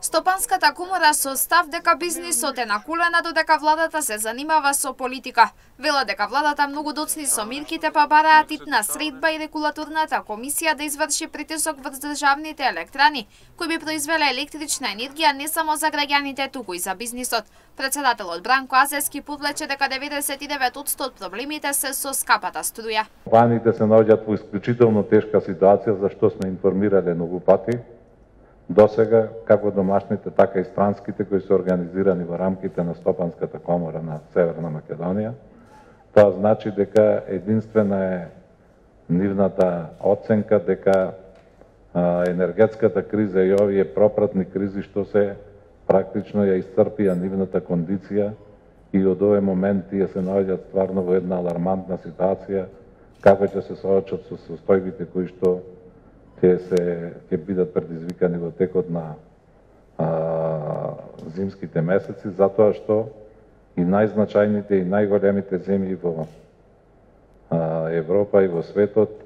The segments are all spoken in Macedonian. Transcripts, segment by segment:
Стопанската комора со став дека бизнисот е на колена додека владата се занимава со политика. Вела дека владата многу доцни со мирките па бараат итна средба и регулаторната комисија да изврши притисок врз државните електрани, кои би произвеле електрична енергија не само за граѓаните, туку и за бизнисот. Председателот Бранко Азески подлече дека 99% од проблемите се со скапата струја. Компаниите се наоѓаат во исклучително тешка ситуација, за што сме информирале многу пати. Досега, како домашните, така и странските, кои се организирани во рамките на Стопанската комора на Северна Македонија. Тоа значи дека единствена е нивната оценка дека енергетската криза и овие пропратни кризи што се практично ја исцрпија нивната кондиција и од овој момент тие се наоѓаат стварно во една алармантна ситуација како ќе се соочат со состојбите кои што ќе бидат предизвикани во текот на зимските месеци, затоа што и најзначајните и најголемите земји во Европа и во светот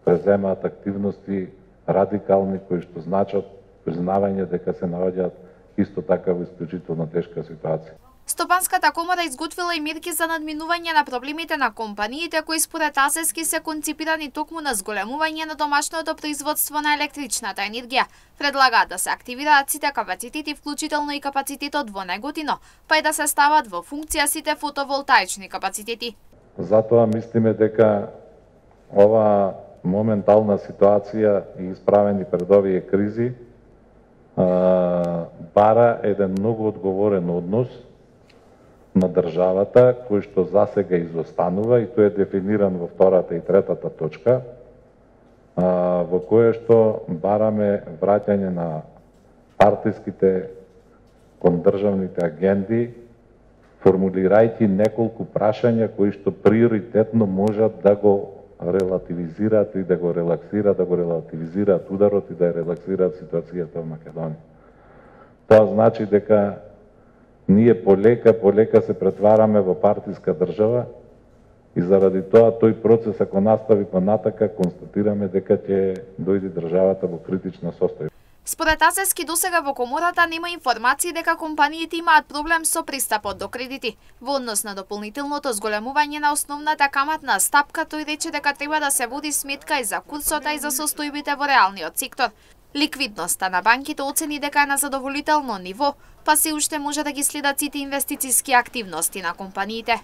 преземаат активности радикални кои што значат признавање дека се наоѓаат исто така во исклучително тешка ситуација. Стопанската комора изготвила и мерки за надминување на проблемите на компаниите кои според Азески се конципирани токму на зголемување на домашното производство на електричната енергија. Предлагаат да се активираат сите капацитети, вклучително и капацитетот во Неготино, па и да се стават во функција сите фотоволтаични капацитети. Затоа мислиме дека ова моментална ситуација и исправени пред овие кризи бара еден многу одговорен однос на државата, кој што засега изостанува и тој е дефиниран во втората и третата точка, во кое што бараме враќање на партиските кон државните агенди, формулирајќи неколку прашања кои што приоритетно можат да го релативизираат и да го релаксираат, да го релативизираат ударот и да релаксираат ситуацијата во Македонија. Тоа значи дека ние полека се претвараме во партиска држава и заради тоа тој процес ако настави понатака констатираме дека ќе дојде државата во критична состојба. Според Азески досега во комората нема информации дека компаниите имаат проблем со пристапот до кредити. Во однос на дополнителното зголемување на основната каматна стапка, тој рече дека треба да се води сметка и за курсот и за состојбите во реалниот сектор. Ликвидноста на банките оцени дека е на задоволително ниво, па се уште може да ги следат сите инвестициски активности на компаниите.